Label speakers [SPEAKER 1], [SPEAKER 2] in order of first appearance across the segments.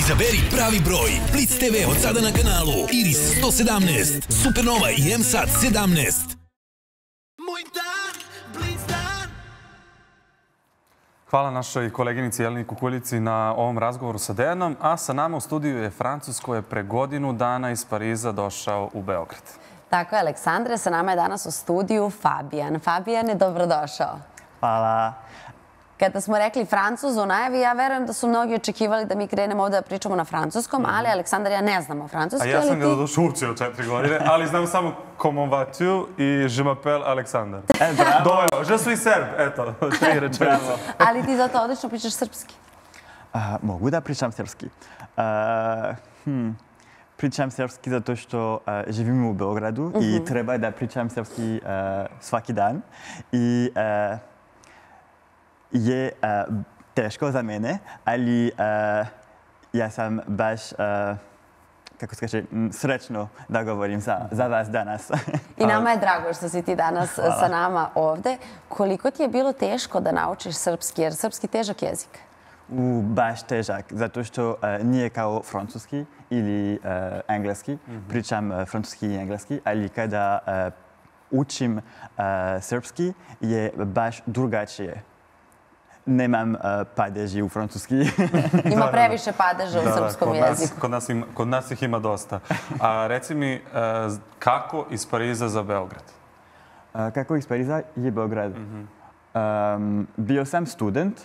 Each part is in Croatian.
[SPEAKER 1] Izaberi pravi broj. Blitz TV od sada na kanalu Iris 117, Supernova i M-Sat 17.
[SPEAKER 2] Hvala našoj koleginici Jeleni Kukuljici na ovom razgovoru sa Dejanom, a sa nama u studiju je Francuz koji je pre godinu dana iz Pariza došao u Beograd.
[SPEAKER 3] Tako je, Aleksandre, sa nama je danas u studiju Fabijan. Fabijane, dobrodošao.
[SPEAKER 4] Hvala.
[SPEAKER 3] Kada smo rekli Francuz u najavi, ja verujem da su mnogi očekivali da mi krenemo ovdje da pričamo na francuskom, ali Aleksandar, ja ne znamo francuski.
[SPEAKER 2] A ja sam ga došao učio 4 godine, ali znam samo comment vas-tu i je m'appelle Aleksandar. Dovoljno, je suis serb, eto, 3 rečenice.
[SPEAKER 3] Ali ti zato odlično pričaš srpski.
[SPEAKER 4] Mogu da pričam srpski. Pričam srpski zato što živim u Beogradu i treba da pričam srpski svaki dan. I je teško za mene, ali ja sam baš, kako se kaže, srećno da govorim za vas danas.
[SPEAKER 3] I nama je drago što si ti danas sa nama ovde. Koliko ti je bilo teško da naučiš srpski, jer srpski težak jezik?
[SPEAKER 4] Baš težak, zato što nije kao francuski ili engleski. Pričam francuski i engleski, ali kada učim srpski je baš drugačije. Nemam padeži u francuski.
[SPEAKER 3] Ima previše padeža u srpskom jeziku.
[SPEAKER 2] Kod nas ih ima dosta. A reci mi, kako iz Pariza za Beograd?
[SPEAKER 4] Kako iz Pariza je Beograd? Bio sam student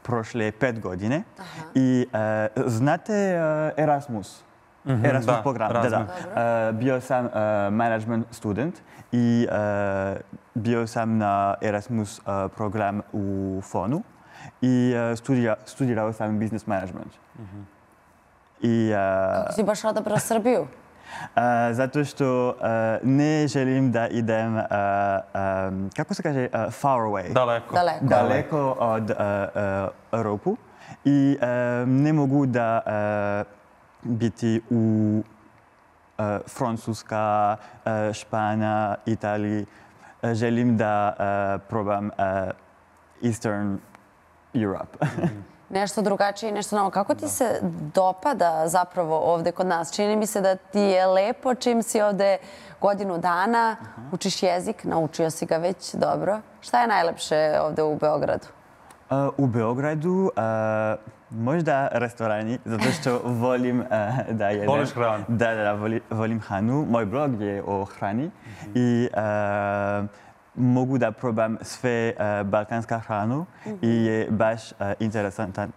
[SPEAKER 4] prošle 5 godine i znate Erasmus? Erasmus program. Bio sam management student i bio sam na Erasmus program u FON-u i studirao sam business management.
[SPEAKER 3] Kako si baš odabrao Srbiju?
[SPEAKER 4] Zato što ne želim da idem, kako se kaže, far away. Daleko od Europu i ne mogu da biti u Francuska, Španija, Italiji. Želim da probam Eastern Europe.
[SPEAKER 3] Nešto drugačije i nešto novo. Kako ti se dopada zapravo ovde kod nas? Čini mi se da ti je lepo čim si ovde godinu dana, učiš jezik, naučio si ga već dobro. Šta je najlepše ovde u Beogradu?
[SPEAKER 4] U Beogradu možda restorani, zato što volim da jedem.
[SPEAKER 2] Voliš hranu?
[SPEAKER 4] Da, volim hranu. Moj blog je o hrani i mogu da probam sve balkanska hranu i je baš interesantan,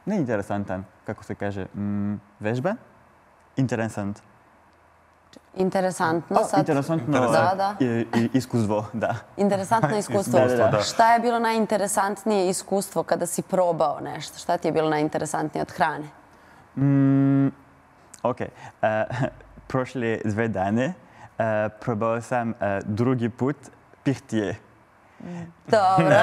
[SPEAKER 4] ne interesantan, kako se kaže, vežba? Interesant.
[SPEAKER 3] Interesantno.
[SPEAKER 4] Interesantno iskustvo, da.
[SPEAKER 3] Interesantno iskustvo. Šta je bilo najinteresantnije iskustvo kada si probao nešto? Šta ti je bilo najinteresantnije od hrane?
[SPEAKER 4] Ok. Prošle 2 dane probao sam drugi put pihtije.
[SPEAKER 3] Dobro.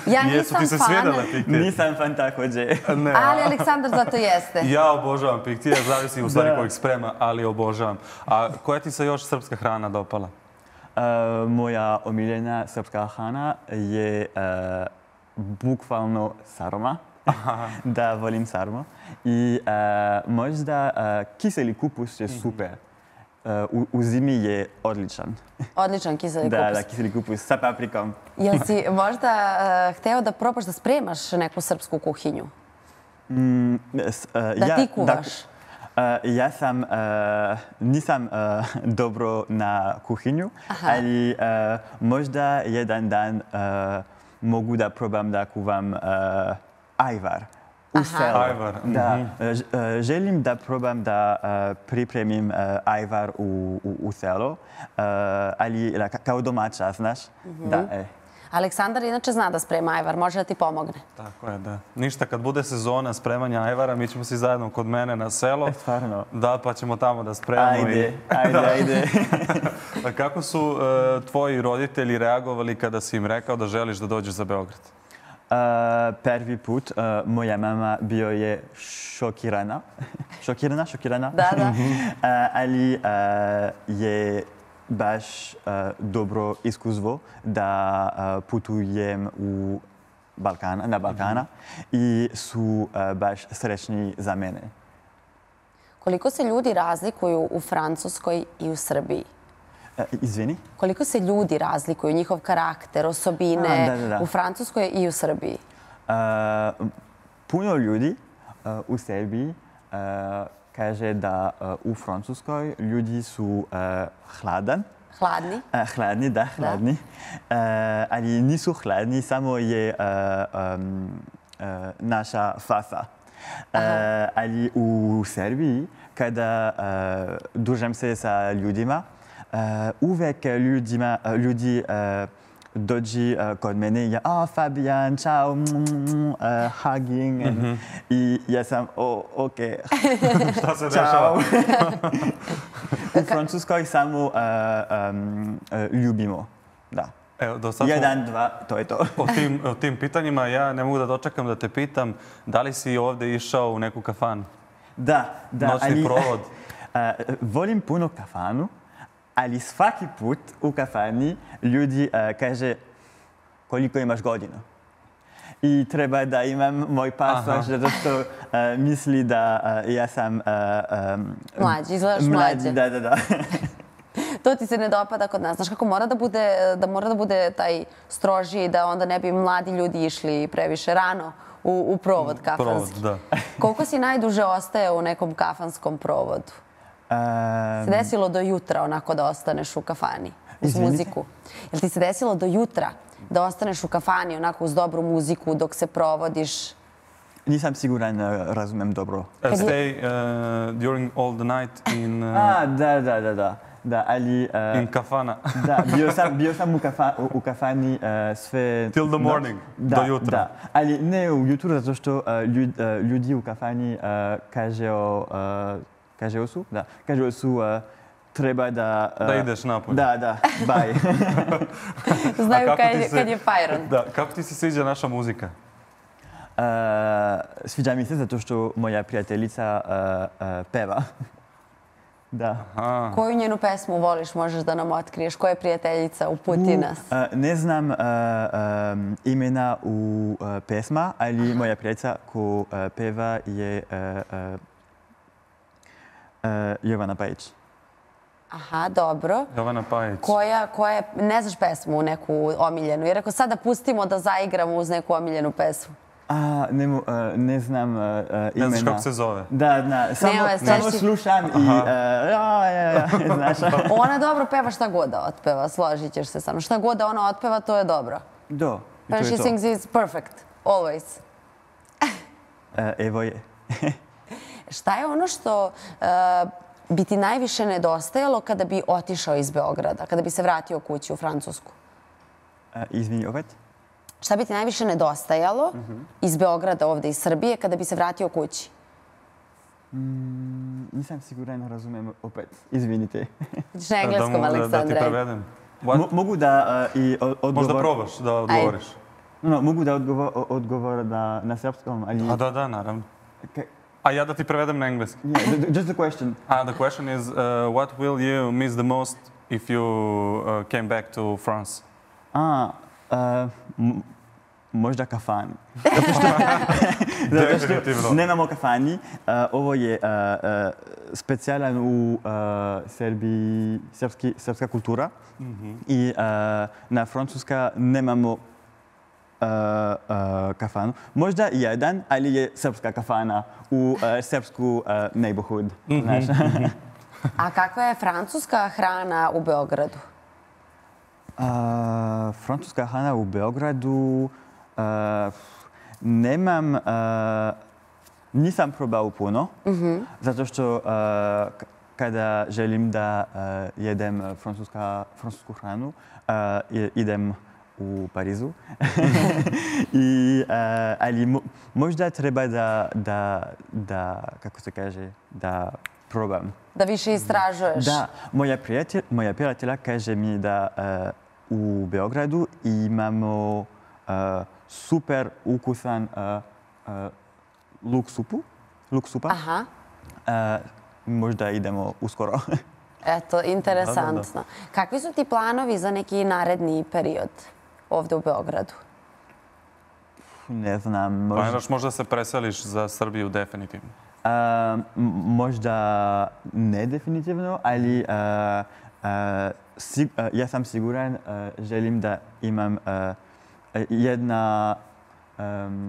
[SPEAKER 3] Ja nisam fan.
[SPEAKER 4] Nisam fan također.
[SPEAKER 3] Ali Aleksandar zato jeste.
[SPEAKER 2] Ja obožavam pihtije, zavisi u stvari kojeg sprema, ali obožavam. A koja ti se još srpska hrana dopala?
[SPEAKER 4] Moja omiljena srpska hrana je bukvalno sarma. Da, volim sarmu. I možda kiseli kupus je super. U zimi je odličan.
[SPEAKER 3] Odličan kiseli kupus.
[SPEAKER 4] Da, kiseli kupus sa paprikom.
[SPEAKER 3] Jel si možda hteo da probaš da spremaš neku srpsku kuhinju? Da ti kuvaš?
[SPEAKER 4] Ja nisam dobro na kuhinju, ali možda jedan dan mogu da probam da kuvam ajvar.
[SPEAKER 2] Ajvar.
[SPEAKER 4] Da, želim da probam da pripremim ajvar u selo, ali kao domaća, znaš?
[SPEAKER 3] Aleksandar inače zna da sprema ajvar, može da ti pomogne.
[SPEAKER 2] Tako je, da. Ništa, kad bude sezona spremanja ajvara, mi ćemo si zajedno kod mene na selo.
[SPEAKER 4] Stvarno?
[SPEAKER 2] Da, pa ćemo tamo da spremamo.
[SPEAKER 4] Ajde.
[SPEAKER 2] Kako su tvoji roditelji reagovali kada si im rekao da želiš da dođeš za Beograd?
[SPEAKER 4] Prvi put moja mama bio je šokirana. Šokirana?
[SPEAKER 3] Da.
[SPEAKER 4] Ali je baš dobro iskustvo da putujem u Balkana i su baš srećni za mene.
[SPEAKER 3] Koliko se ljudi razlikuju u Francuskoj i u Srbiji?
[SPEAKER 4] Izvini?
[SPEAKER 3] Koliko se ljudi razlikuju, njihov karakter, osobine u Francuskoj i u Srbiji?
[SPEAKER 4] Puno ljudi u Srbiji kaže da u Francuskoj ljudi su hladni.
[SPEAKER 3] Hladni?
[SPEAKER 4] Hladni. Ali nisu hladni, samo je naša faca. Ali u Srbiji, kada družim se sa ljudima, uvek ljudi dođi kod mene i Fabian, čao, hugging. I ja sam, ok.
[SPEAKER 2] Šta se dešava?
[SPEAKER 4] U Francuskoj samo ljubimo. Da. Jedan, dva, to je to.
[SPEAKER 2] O tim pitanjima ja ne mogu da dočekam da te pitam da li si ovde išao u neku kafanu?
[SPEAKER 4] Da.
[SPEAKER 2] Noćni provod?
[SPEAKER 4] Volim puno kafanu, ali svaki put u kafani ljudi kaže koliko imaš godina. I treba da imam moj pasoš, zato što misli da ja sam
[SPEAKER 3] mlađi, izgledaš mlađe.
[SPEAKER 4] Da.
[SPEAKER 3] To ti se ne dopada kod nas. Znaš kako mora da bude taj strožiji, da onda ne bi mladi ljudi išli previše rano u provod kafanski. Koliko si najduže ostaje u nekom kafanskom provodu? Se desilo do jutra onako da ostaneš u kafani uz muziku? Jel ti se desilo do jutra da ostaneš u kafani onako uz dobru muziku dok se provodiš?
[SPEAKER 4] Nisam siguran, razumem dobro.
[SPEAKER 2] Stay during all the night in...
[SPEAKER 4] Da, ali...
[SPEAKER 2] In kafana.
[SPEAKER 4] Da, bio sam u kafani sve...
[SPEAKER 2] Till the morning, do jutra.
[SPEAKER 4] Da, ali ne u jutru, zato što ljudi u kafani kažeo su treba da...
[SPEAKER 2] Da ideš napolje.
[SPEAKER 4] Da, bye.
[SPEAKER 3] Znaju kad je fajron.
[SPEAKER 2] Da, kako ti se sviđa naša muzika?
[SPEAKER 4] Sviđa mi se zato što moja prijateljica peva. Da.
[SPEAKER 3] Koju njenu pesmu voliš, možeš da nam otkriješ? Koja je prijateljica? Uputi nas.
[SPEAKER 4] Ne znam imena u pesma, ali moja prijateljica ko peva je Jovana Pajić.
[SPEAKER 3] Aha, dobro.
[SPEAKER 2] Jovana Pajić.
[SPEAKER 3] Koja, ne znaš pesmu neku omiljenu? Jer ako sada pustimo da zaigramo uz neku omiljenu pesmu.
[SPEAKER 4] Ne znam imena.
[SPEAKER 2] Ne znaš kako se zove?
[SPEAKER 4] Da, samo slušam i znaš.
[SPEAKER 3] Ona dobro peva šta god da otpeva, složit ćeš se sa mnom. Šta god da ona otpeva, to je dobro.
[SPEAKER 4] Da, i to
[SPEAKER 3] When
[SPEAKER 4] je
[SPEAKER 3] she
[SPEAKER 4] to.
[SPEAKER 3] sings is perfect, always.
[SPEAKER 4] Evo je.
[SPEAKER 3] Šta je ono što bi ti najviše nedostajalo kada bi otišao iz Beograda, kada bi se vratio kući u Francusku?
[SPEAKER 4] Izvini, opet?
[SPEAKER 3] Šta bi ti najviše nedostajalo iz Beograda ovde iz Srbije kada bi se vratio kući?
[SPEAKER 4] Nisam siguran, razumem opet. Izvinite.
[SPEAKER 3] Hoćeš na engleskom, Aleksandre?
[SPEAKER 2] Da ti prevedem.
[SPEAKER 4] Mogu da i odgovor...
[SPEAKER 2] Možda probaš da odgovoriš.
[SPEAKER 4] Mogu da odgovor na srpskom, ali...
[SPEAKER 2] Da, naravno. A ja da ti prevedem na engleski?
[SPEAKER 4] Just a question.
[SPEAKER 2] The question is, what will you miss the most if you came back to France?
[SPEAKER 4] Možda kafan.
[SPEAKER 2] Definitivno.
[SPEAKER 4] Nemamo kafani. Ovo je specijalan u Srbiji, srpska kultura. I na Francuska nemamo kafanu. Možda jedan, ali je srpska kafana u srpsku neighborhood.
[SPEAKER 3] A kakva je francuska hrana u Beogradu?
[SPEAKER 4] Francuska hrana u Beogradu nisam probao puno, zato što kada želim da jedem francusku hranu, idem u Parizu. Ali možda treba da, kako se kaže, da probam.
[SPEAKER 3] Da više istražuješ?
[SPEAKER 4] Da, moja prijatelja kaže mi da u Beogradu imamo super ukusan luk supa.
[SPEAKER 3] Aha.
[SPEAKER 4] Možda idemo uskoro.
[SPEAKER 3] Eto, interesantno. Kakvi su ti planovi za neki naredni period ovde u Beogradu?
[SPEAKER 4] Ne znam,
[SPEAKER 2] Planiraš možda se preseliš za Srbiju definitivno?
[SPEAKER 4] Možda ne definitivno, ali ja sam siguran, želim da imam jedno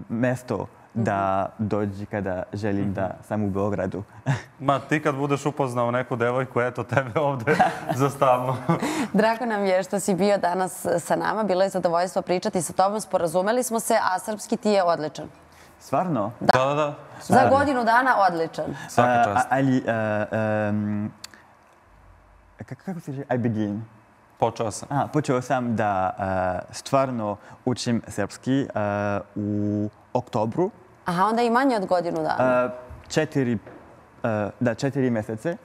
[SPEAKER 4] mesto da dođi kada želim da sam u Beogradu.
[SPEAKER 2] Ma ti kad budeš upoznao neku devojku, eto tebe ovde za stalno.
[SPEAKER 3] Drago nam je što si bio danas sa nama. Bilo je zadovoljstvo pričati sa tobom. Sporazumeli smo se, a srpski ti je odličan.
[SPEAKER 4] Stvarno?
[SPEAKER 2] Da.
[SPEAKER 3] Za godinu dana odličan.
[SPEAKER 2] Svaka čast.
[SPEAKER 4] Ali, kako se reče? I begin.
[SPEAKER 2] Počeo sam.
[SPEAKER 4] Počeo sam da stvarno učim srpski u oktobru.
[SPEAKER 3] Aha, onda i manje od godinu dana.
[SPEAKER 4] 4 mjesece.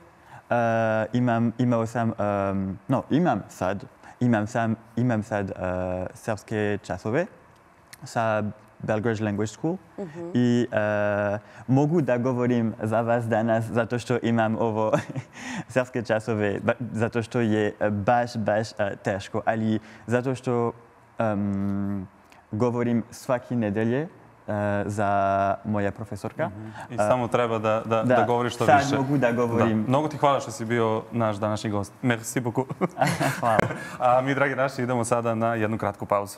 [SPEAKER 4] Imam sad srpske časove sa Belgrade Language School i mogu da govorim za vas danas zato što imam ovo srpske časove, zato što je baš teško, ali zato što govorim svaki nedelje za moja profesorka.
[SPEAKER 2] I samo treba da govoriš što više.
[SPEAKER 4] Sad mogu da govorim.
[SPEAKER 2] Mnogo ti hvala što si bio naš današnji gost. Merci beaucoup.
[SPEAKER 4] Hvala.
[SPEAKER 2] A mi, dragi naši, idemo sada na jednu kratku pauzu.